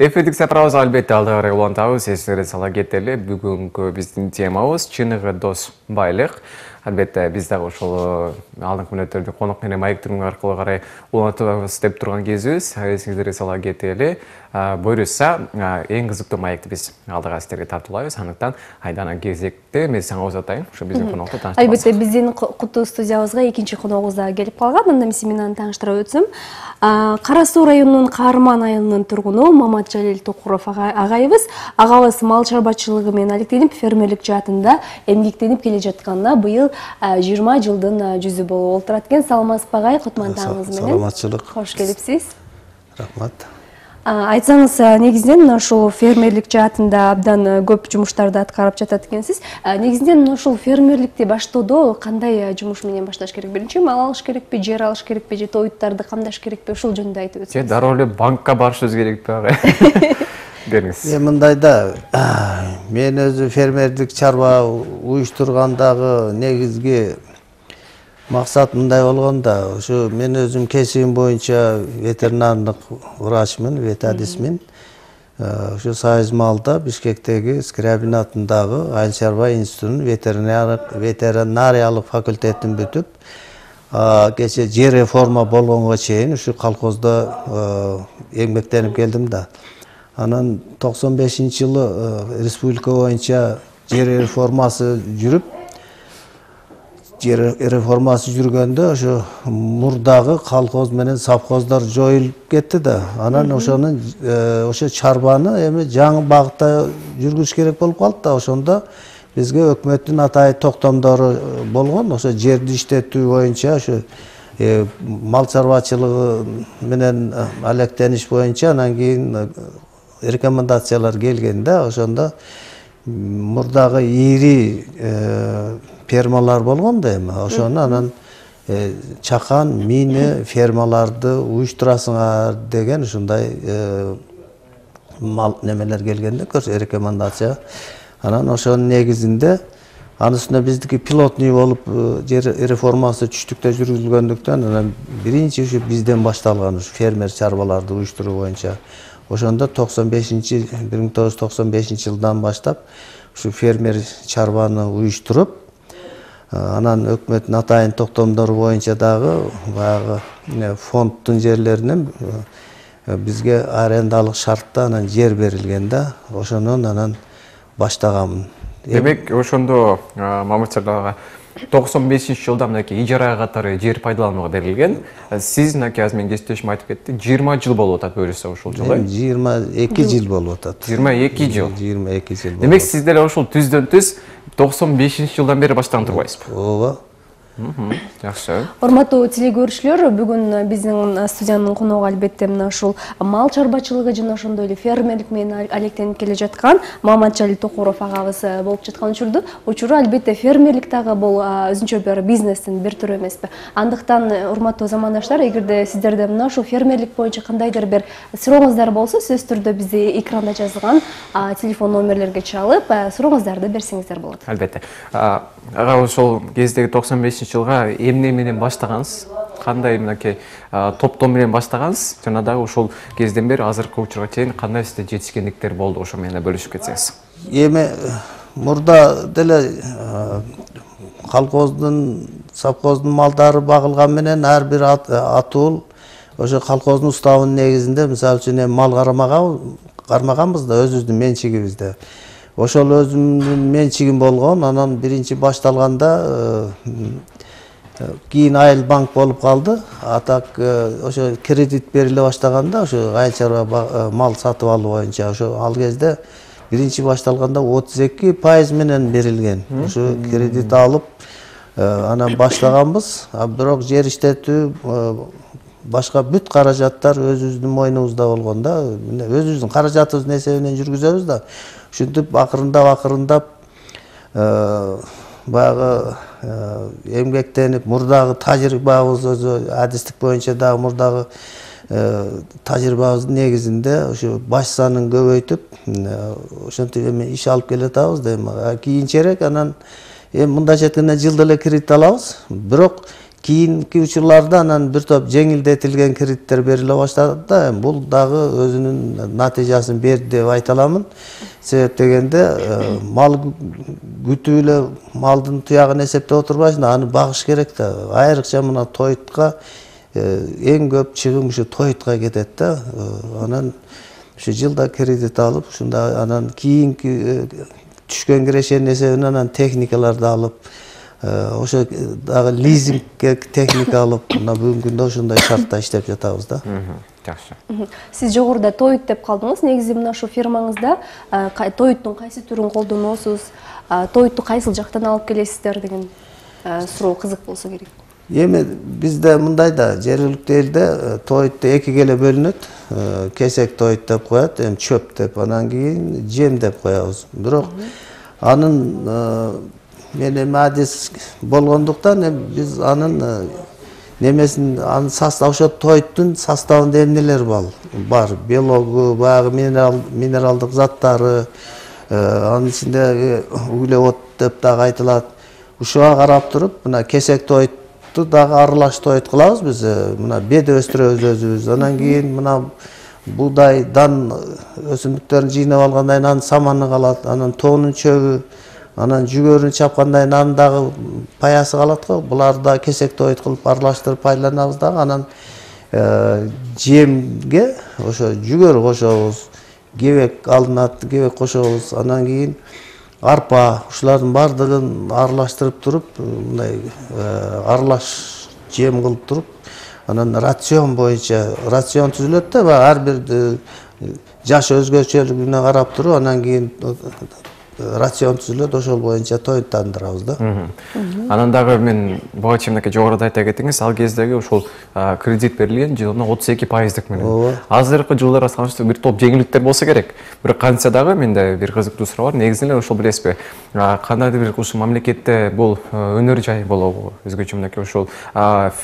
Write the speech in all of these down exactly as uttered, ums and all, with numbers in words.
Эфирдик сапарыбыз албетте алда карай улантабыз. Эсиңерге сала кетели. Бүгүнкү биздин темабыз чыныгы дос байлык. Албетте биз дагы ошол алдыңкы мүнөттөрдө конок менен маектирүү аркылуу карай улантабыз деп турган кезибиз. Эсиңерге сала кетели. Буюрса, эң кызыктуу маекти биз алдыга сиздерге тартуулайбыз. Андыктан айдана кезекте мен сага оз атайын. Ошо биздин конокто тааныштырабыз. Албетте биздин куту студиябызга экинчи коногубуз да келип калган. Анда мен сени менен тааныштыра өтсөм. Кара Суу районунун Каарман айылынын тургуну Маматжалил Токуров агайыбыз. Агабыз мал чарбачылыгы менен алектенип, фермерлик жаатында эмгектенип келе жатканына быйыл жыйырма жылдын жүзү болуп отурат экен. Саламатсызбы агай, кутмандыгыңыз менен. Саламатчылык. Кош келипсиз. Рахмат. Айтсаңыз, негизинен ушул фермерлик жаатында абдан көп жумуштарды аткарып жатат экенсиз. Негизинен ушул фермерликти баштоодо кандай жумуш менен башташ керек? Биринчи мал алыш керекпи, жер алыш керекпи, же тоюттарды камдаш керекпи? Ушул жөнүндө айтып өтсөңүз. Же дароо эле банкка барышыбыз керекпи агай? Бериңиз. Эми мындайда, мен өзү фермерлик чарба уюштургандагы негизги максат мындай болгон да, ошо мен өзүм кесибим боюнча ветеринардык врачмын, ветадисмин. Ошо Союз малда Бишкектеги Скрябин атындагы айыл чарба институтунун ветеринариялык факультетин бүтүп, кече жер реформа болгонго чейин ушу колхоздо эмгектенип келдим да. Анан токсон бешинчи жылы республика боюнча жер реформасы жүрүп, жер реформасы жүргөндө ошо мурдагы колхоз менен совхоздор жоюлуп кетти да. Анан ошонун ошо чарбаны эми жаңы багытта жүргүзүш керек болуп калды да. Ошондо бизге өкмөттүн атайын токтомдору болгон. Ошо жерди иштетүү боюнча ошо мал чарбачылыгы менен алектениш боюнча анан кийин рекомендациялар келген да. Ошондо мурдагы ири фермалар болгон да эми. Ошону анан чакан, мини фермаларды уюштурасыңар деген ушундай мал немелер келгенде көрсө рекомендация. Анан ошонун негизинде анын үстүнө биздики пилотный болуп жер реформасы түштүктө жүргүзүлгөндүктөн анан биринчи ушу бизден башталган ушу фермер чарбаларды уюштуруу боюнча. Ошондо токсон бешинчи бир миң тогуз жүз токсон бешинчи жылдан баштап ушу фермер чарбаны уюштуруп, анан өкмөттүн атайын токтомдору боюнча дагы баягы фонддун жерлеринен бизге арендалык шартта анан жер берилген да. Ошонун анан баштаганмын. Демек, ошондо Маматжалил токсон бешинчи жылда мынакей ижарага катары жер пайдаланууга берилген. Сиз мынакей азыр менин кесиптешим айтып кетти, жыйырма жыл болуп атат буюрса ушул жылы. жыйырма эки жыл болуп атат. жыйырма эки жыл. жыйырма эки жыл. Демек, сиз деле ушул түздөн түз токсон бешинчи жылдан бери баштаган турбайсызбы? Ооба. Жакшы. Урматтуу телекөрүүчүлөр, бүгүн биздин студиянын коногу албетте мына ушул мал чарбачылыгы жана ошондой эле фермерлик менен алектенип келе жаткан Маматжалил Токуров агабыз болуп жаткан учурду. Учуру албетте фермерлик дагы бул өзүнчө бир бизнестин бир түрү эмеспи? Андыктан урматтуу замандаштар, эгерде сиздерде мына ушул фермерлик боюнча кандайдыр бир сурооңуздар болсо, сөзсүз түрдө бизде экранда жазылган телефон номерлерге чалып, сурооңуздарды берсеңиздер болот. Албетте. Ага, ошол кездеги токсон бешинчи жылга эмне менен баштагансыз? Кандай мынакей топтом менен баштагансыз? Жана дагы ошол кезден бери азыркы учурга чейин кандай сизде жетишкендиктер болду? Ошо менен бөлүшүп кетсеңиз. Эми мурда деле колхоздун, совхоздун малдары багылган менен ар бир атуул ошо колхоздун уставынын негизинде, мисалы үчүн мал кармаганбыз да, өзүбүздүн менчигибизде. Ошол өзүмдүн менчигим болгон. Анан биринчи башталганда кийин айыл банк болуп калды. Атак ошо кредит бериле баштаганда ошо айыл чарба мал сатып алуу боюнча ошо ал кезде биринчи башталганда отуз эки пайыз менен берилген. Ошо кредит алып анан баштаганбыз. Бирок жер иштетүү башка бүт каражаттар өзүбүздүн мойнубузда болгон да. Өзүбүздүн каражатыбыздын эсебинен жүргүзөбүз да. Ушинтип акырындап акырындап баягы эмгектенип, мурдагы тажрыйбабыз өзү адистик боюнча дагы мурдагы тажрыйбабыздын негизинде ошо баш санын көбөйтүп, ошентип эми иш алып келатабыз да. Эми кийинчерээк анан эми мындайча айтканда жылда эле кредит алабыз. Бирок кийинки учурларда анан бир топ жеңилдетилген кредиттер бериле баштады да, бул дагы өзүнүн натыйжасын берди деп айта аламын. Себеп дегенде мал күтүп эле малдын туягын эсептеп отурбайсың, аны багыш керек да. Айрыкча мына тойтка эң көп чыгым ушу тойтка кетет да. Анан ушу жылда кредит алып, ушунда анан кийинки түшкөн кирешенин эсебинен анан техникаларды алып, ошо дагы лизингке техника алып, мына бүгүнкү күндө ошондой шартта иштеп жатабыз да. Жакшы. Сиз жогоруда тоют деп калдыңыз. Негизи мына ушу фирмаңызда тоюттун кайсы түрүн колдоносуз, тоютту кайсыл жактан алып келесиздер деген суроо кызык болсо керек. Эми бизде мындай да, жергиликтүү элде тоютту экиге эле бөлүнөт. Кесек тоют деп коет, эми чөп деп, анан кийин жем деп коебуз. Бирок анын мен эми адис болгондуктан биз анын немесин, анын состав, ошо тоюттун составында эмнелер бар? Белогу, баягы минерал, минералдык заттары, анын ичинде углевод деп дагы айтылат. Ушуга карап туруп, мына кесек тоютту дагы аралаш тоют кылабыз биз. Мына бед өстүрөбүз өзүбүз. Анан кийин мына буудай, дан өсүмдүктөрүн жыйнап алгандан кийин анын саманы калат, анан тоонун чөбү, анан жүгөрүн чапкандан кийин анын дагы паясы калат го. Буларды да кесек тоют кылып аралаштырып пайдаланабыз дагы. Анан жемге ошо жүгөр кошобуз, кебек алынат, кебек кошобуз. Анан кийин арпа, ушулардын бардыгын аралаштырып туруп, мындай аралаш жем кылып туруп, анан рацион боюнча рацион түзүлөт да, ар бир жаш өзгөчөлүгүнө карап туруп, анан кийин рацион түзүлөт, ошол боюнча тоюттандырабыз да. Анан дагы мен буга чейин жогоруда айта кетиңиз, ал кездеги ошол кредит берилген жылына отуз эки пайыздык менен. Азыркы жылдары салыштырмалуу бир топ жеңилдиктер болсо керек. Бирок кантса дагы менде бир кызыктуу суроо бар. Негизинен ошол билесизби? Кандайдыр бир ушул мамлекетте бул өнөр жай болобу? Өзгөчө мынакей ошол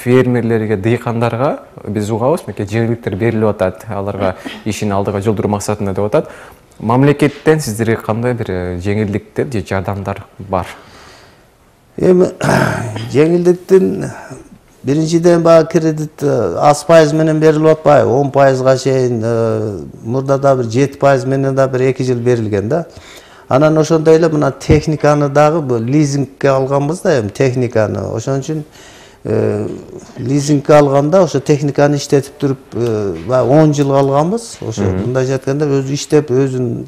фермерлерге, дыйкандарга биз угабыз, мынакей жеңилдиктер берилип атат, аларга ишин алдыга жылдыруу максатында деп атат. Мамлекеттен сиздерге кандай бир жеңилдиктер же жардамдар бар? Эми жеңилдиктин биринчиден баягы кредит аз пайыз менен берилип атпайбы? он пайызга чейин, мурда да бир жети пайыз менен да бир эки жыл берилген да. Анан ошондой эле мына техниканы дагы лизингке алганбыз да, эми техниканы. Ошон үчүн лизингке алганда ошо техниканы иштетип туруп он жыл алганбыз. Ошо мындайча айтканда өзү иштеп, өзүн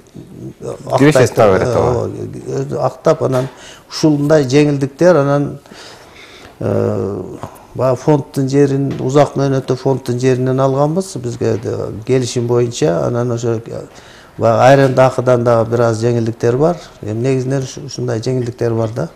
актап, анан ушундай жеңилдиктер, анан баягы фонддун жерин, узак мөөнөттө фонддун жеринен алганбыз бизге келишим боюнча. Анан ошо баягы айрымды акыдан дагы бир аз жеңилдиктер бар. Эми негизинен ушундай жеңилдиктер бар да.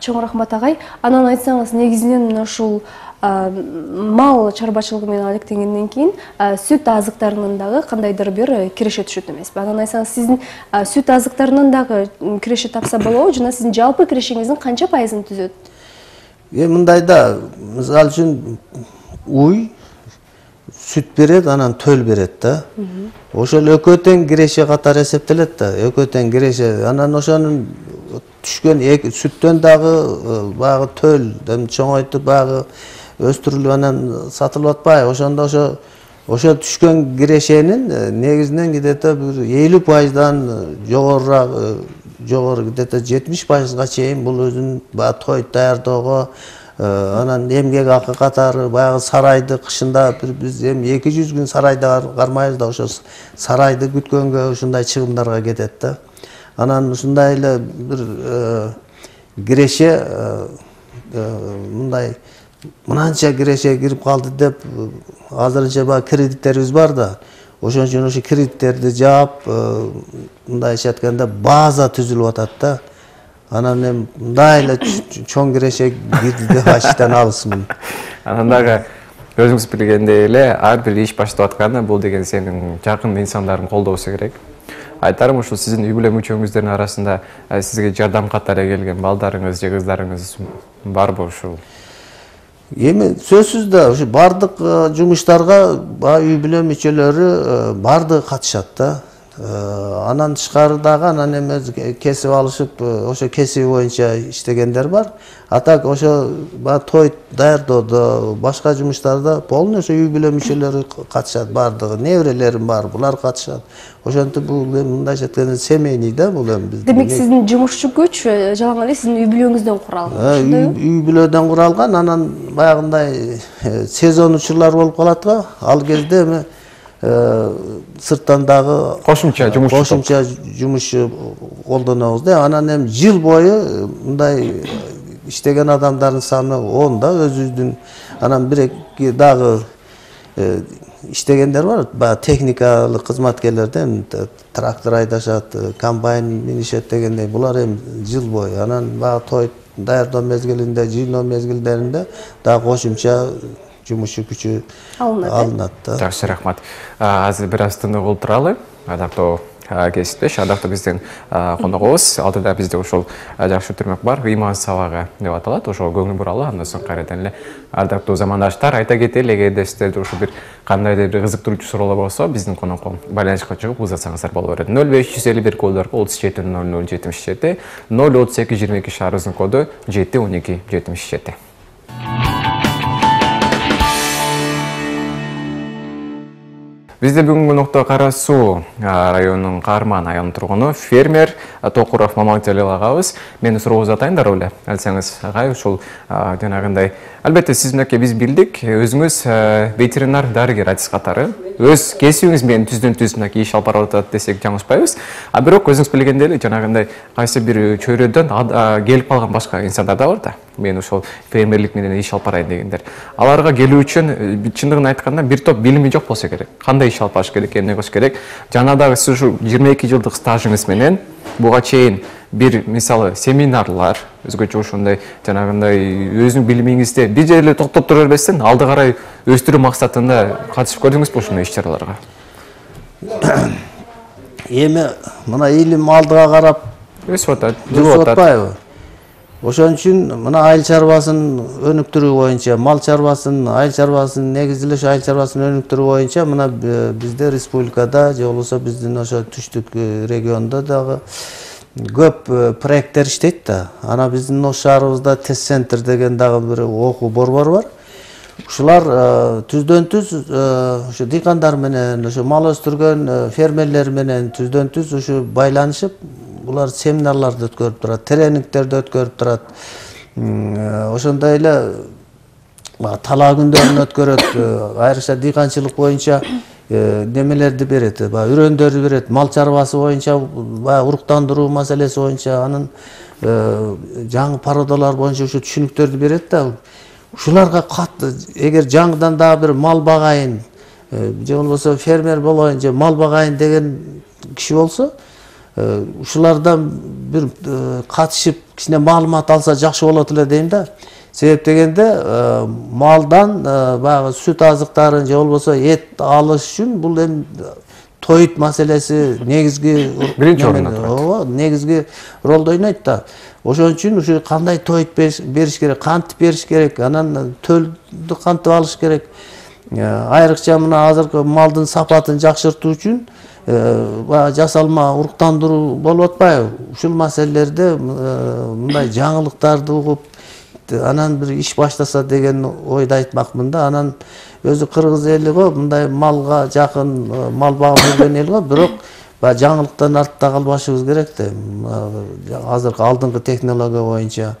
Чоң рахмат агай. Анан айтсаңыз, негизинен ушул мал чарбачылыгы менен алектенгенден кийин сүт азыктарынын дагы кандайдыр бир киреше түшөт эмеспи? Анан айтсаңыз, сиздин сүт азыктарынын дагы киреше тапса болобу, жана сиздин жалпы кирешеңиздин канча пайызын түзөт? Эми мындай да, мисалы үчүн уй сүт берет, анан төл берет да. Ошол экөө тең киреше катары эсептелет да, экөө тең киреше. Анан ошонун түшкөн сүттөн дагы баягы төл, чоңойтуп баягы өстүрүлүп анан сатылып атпайбы? Ошондо ошо ошо түшкөн кирешенин негизинен где-то бир элүү пайыздан жогорураак, жогору где-то жетимиш пайызга чейин бул өзүнүн баягы тоют даярдоого, анан эмгек акы катары баягы сарайды кышында биз эми эки жүз күн сарайда кармайбыз да, ошо сарайды күткөнгө ушундай чыгымдарга кетет да. Анан ушундай эле бир киреше, мындай мынанча киреше кирип калды деп азырынча баягы кредиттерибиз бар да. Ошон үчүн ошо кредиттерди жаап, мындайча айтканда база түзүлүп атат да. Анан эми мындай эле чоң киреше кирди деп айтыштан алысмын. Анан дагы өзүңүз билгендей эле ар бир иш баштап атканда бул деген сенин жакын инсандардын колдоосу керек. Айтарым ушул сиздин үй бүлө мүчөңүздөрдүн арасында сизге жардам катары келген балдарыңыз же кыздарыңыз барбы ушул? Эми сөзсүз да ушу бардык жумуштарга үй бүлө мүчөлөрү бардыгы катышат да. Анан тышкары дагы анан эме кесип алышып, ошо кесиби боюнча иштегендер бар. А так ошо той даярдоодо, башка жумуштарда полный ошо үй бүлө мүчөлөрү катышат, бардыгы. Неберелерим бар, булар катышат. Ошентип бул мындайча айтканда семейный да бул эми биздин. Демек сиздин жумушчу күч жалаң эле сиздин үй бүлөңүздөн куралган, ошондойбу? Үй бүлөдөн куралган, анан баягындай сезон учурлар болуп калат го. Ал кезде эми сырттан дагы кошумча жумушчу кошумча жумушчу колдонобуз да. Анан эми жыл бою мындай иштеген адамдардын саны он да өзүбүздүн. Анан бир эки дагы иштегендер бар, баягы техникалык кызматкерлер да, эми трактор айдашат, комбайн минишет дегендей. Булар эми жыл бою. Анан баягы той даярдоо мезгилинде, жыйноо мезгилдеринде дагы кошумча жумушчу күчү алынат да. Жакшы, рахмат. Азыр бир аз тынык болуп туралы. Адактуу кесиптеш, адактуу биздин коногубуз алдыда бизде ошол жакшы түрмөк бар, ыйман сабагы деп аталат. Ошол көңүл буралы, андан соң кайрадан эле адактуу замандаштар айта кетели, эгерде сиздерде ошо бир кандайдыр бир кызыктыруучу суроолор болсо, биздин конокко байланышка чыгып узатсаңыздар боло берет. ноль беш жүз элүү бир коддорго отуз жети ноль ноль жетимиш жети, ноль отуз эки жыйырма эки шаарыбыздын коду жети он эки жетимиш жети. Бизде бүгүнкү конокто Кара Суу районунун Каарман айылынын тургуну фермер Токуров Мамаңжалил агабыз. Мени суроо узатайын да эле. Алсаңыз агай, ушул жанагындай албетте сиз менен биз билдик, өзүңүз ветеринар дарыгер аттестатары өз кесибиңиз менен түздөн-түз мынакей иш алып баратат десек жаңылышпайбыз. А бирок өзүңүз билгендей эле жанагындай кайсы бир чөйрөдөн келип калган башка инсандар да бар да. Мен ошол фермерлик менен иш алып барайын дегендер. Аларга келүү үчүн чындыгын айтканда бир топ билими жок болсо керек. Кандай иш алып барыш керек, эмне кылыш керек? Жанагы сиз ушу жыйырма эки жылдык стажыңыз менен буга чейин бир мисалы семинарлар, өзгөчө ошондой жанагындай өзүнүн билимиңизде бир жерде токтоп тура бербестен алды карай өстүрүү максатында катышып көрдүңүзбү ушундай иш-чараларга? Эми мына илим алдыга карап өсүп атат, жүрүп атпайбы? Ошон үчүн мына айыл чарбасын өнүктүрүү боюнча, мал чарбасын, айыл чарбасын негизделеш айыл чарбасын өнүктүрүү боюнча мына бизде республикада же болбосо биздин ошо түштүк региондо дагы көп проекттер иштейт да. Ана биздин ош шаарыбызда тест центр деген дагы бир окуу борбор бар. Ушулар түздөн-түз ошо дыйкандар менен, ошо мал өстүргөн фермерлер менен түздөн-түз ушу байланышып, булар семинарларды өткөрүп турат, тренингтерди өткөрүп турат. Ошондой эле талаа күндөрүн өткөрөт, айрыкча дыйканчылык боюнча немелерди берет, баягы үрөндөрдү берет, мал чарбасы боюнча, баягы уруктандыруу маселеси боюнча, анын жаңы породалар боюнча ушу түшүнүктөрдү берет да. Ушуларга катты, эгер жаңыдан дагы бир мал багайын, же болбосо фермер болоюн, же мал багайын деген киши болсо, ушулардан бир катышып кичине маалымат алса жакшы болот эле дейм да. Себеп дегенде малдан баягы сүт азыктарын же болбосо эт алыш үчүн бул эми тоют маселеси негизги биринчи орунда турат. Ооба, негизги ролду ойнойт да. Ошон үчүн ушу кандай тоют бериш керек, кантип бериш керек, анан төлдү кантип алыш керек. Айрыкча мына азыркы малдын сапатын жакшыртуу үчүн жасалма уруктандыруу болуп атпайбы? Ушул маселелерде мындай жаңылыктарды угуп, анан бир иш баштаса деген ойду айтмакмын да. Анан өзү кыргыз эли го, мындай малга жакын, мал багып жүргөн эл го, бирок баягы жаңылыктан артта калбашыбыз керек да. Азыркы алдыңкы технология боюнча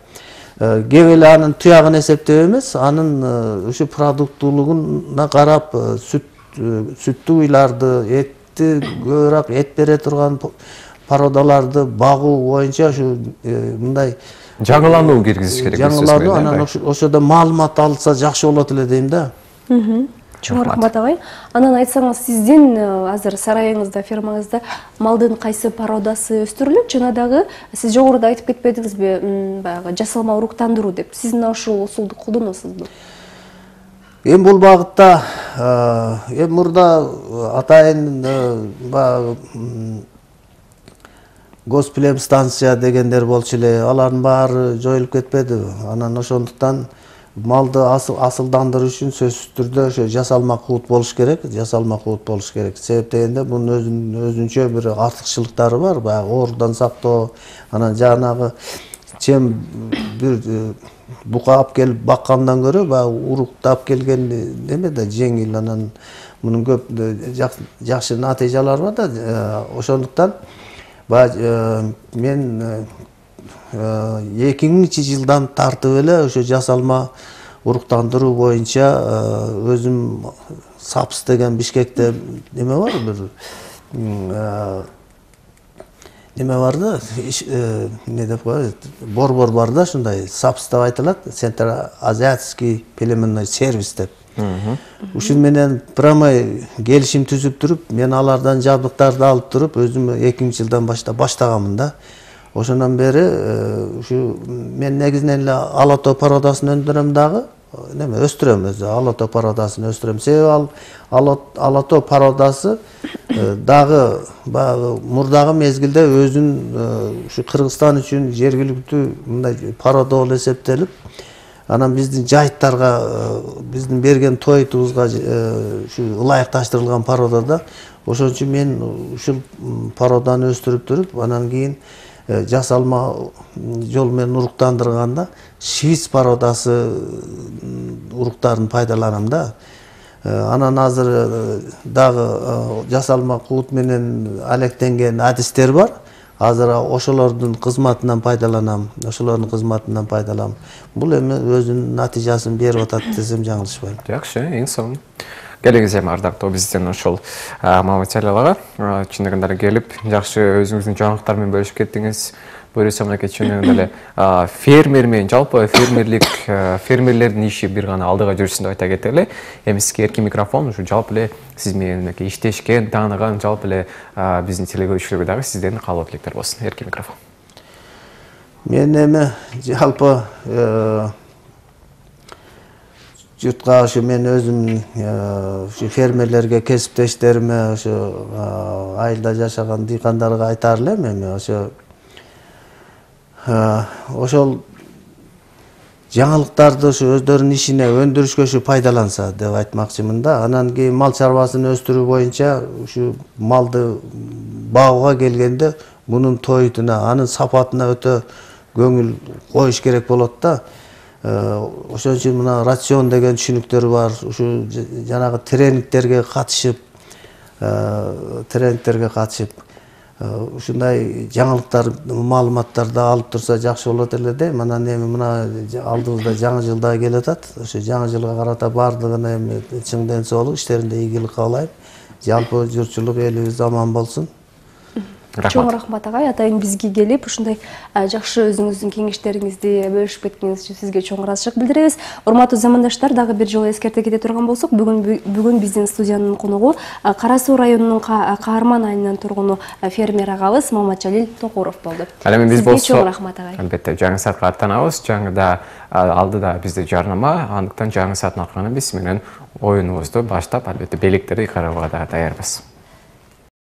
кеп эле анын туягын эсептеп эмес, анын ушу продуктуулугуна карап сүттүү уйларды, этти көбүрөөк эт бере турган породаларды багуу боюнча ушу мындай жаңылануу киргизиш керек. Жаңылануу, анан ошодо маалымат алса жакшы болот эле дейм да. Чоң рахмат агай. Анан айтсаңыз, сиздин азыр сарайыңызда, фермаңызда малдын кайсы породасы өстүрүлөт? Жана дагы сиз жогоруда айтып кетпедиңизби, баягы жасалма уруктандыруу деп. Сиз ушул усулду колдоносузбу? Эми бул багытта эми мурда атайын баягы госплем станция дегендер болчу эле, алардын баары жоюлуп кетпедиби? Анан ошондуктан малды асылдандыруу үчүн сөзсүз түрдө ошо жасалма куут болуш керек, жасалма куут болуш керек. Себеп дегенде бунун өзүнүн өзүнчө бир артыкчылыктары бар. Баягы оорудан сактоо, анан жанагы чем бир бука алып келип баккандан көрө баягы уруктап келген неме да жеңил, анан мунун көп жакшы натыйжалары бар да. Ошондуктан баягы мен эки миңинчи жылдан тартып эле ошо жасалма уруктандыруу боюнча өзүм САПС деген Бишкекте неме бар, бир неме бар да, не деп коет, борбор бар да, ушундай САПС деп айтылат, Центроазиатский племенной сервис деп. Ушун менен прямо келишим түзүп туруп, мен алардан жабдыктарды алып туруп, өзүм эки миңинчи жылдан баштап баштаганмын да. Ошондон бери ушу мен негизинен эле алато породасын өндүрөм дагы, неме өстүрөм, өзү алато породасын өстүрөм. Себеби ал алато породасы дагы баягы мурдагы мезгилде өзүн ушу Кыргызстан үчүн жергиликтүү мындай порода болуп эсептелип, анан биздин жайыттарга, биздин берген тойтубузга ушу ылайыкташтырылган порода да. Ошон үчүн мен ушул породаны өстүрүп туруп, анан кийин жасалма жол менен уруктандырганда швиц породасы уруктарын пайдаланам да. Анан азыр дагы жасалма куут менен алектенген адистер бар. Азыр ошолордун кызматынан пайдаланам, ошолордун кызматынан пайдаланам. Бул эми өзүнүн натыйжасын берип атат десем жаңылышпайм. Жакшы, эң сонун. Келиңиз эми ардактуу биздин ошол материалга чындыгында келип, жакшы өзүңүздүн жаңылыктар менен бөлүшүп кеттиңиз. Буюрса мынакей чындыгында эле фермер менен жалпы фермерлик, фермерлердин иши бир гана алдыга жүрсүн деп айта кетели. Эми сизге эркин микрофон, ушу жалпы эле сиз менен мынакей иштешкен, тааныган жалпы эле биздин телегөрүүчүлөргө дагы сизден каалоо тилектер болсун. Эркин микрофон. Мен эми жалпы журтка ошо мен өзүм ушу фермерлерге, кесиптештериме, ошо айылда жашаган дыйкандарга айтаар элем, эми ошо ошол жаңылыктарды ушу өздөрүнүн ишине, өндүрүшкө ушу пайдаланса деп айтмакчымын да. Анан кийин мал чарбасын өстүрүү боюнча ушу малды багууга келгенде мунун тойтуна, анын сапатына өтө көңүл коюш керек болот да. Ошон үчүн мына рацион деген түшүнүктөр бар. Ушу жанагы тренингтерге катышып, тренингтерге катышып, ушундай жаңылыктар, маалыматтарды алып турса жакшы болот эле дейм. Анан эми мына алдыбызда жаңы жыл да келатат. Ошо жаңы жылга карата баардыгына эми чың ден соолук, иштеринде ийгилик каалайм. Жалпы журтчулук элибиз аман болсун. Чоң рахмат агай, атайын бизге келип ушундай жакшы өзүңүздүн кеңештериңизди бөлүшүп кеткениңиз үчүн сизге чоң ыраазычылык билдиребиз. Урматтуу замандаштар, дагы бир жолу эскерте кете турган болсок, бүгүн бүгүн биздин студиянын конугу Кара Суу районунун Каарман айылынын тургуну фермер агабыз Маматжалил Токуров болду. Ал эми биз болсо чоң рахмат агай. Албетте, жаңы саатка аттанабыз. Жаңыда алдыда бизде жарнама, андыктан жаңы сааттын аркагына биз менен оюнубузду баштап, албетте белектерди карабага да даярбыз.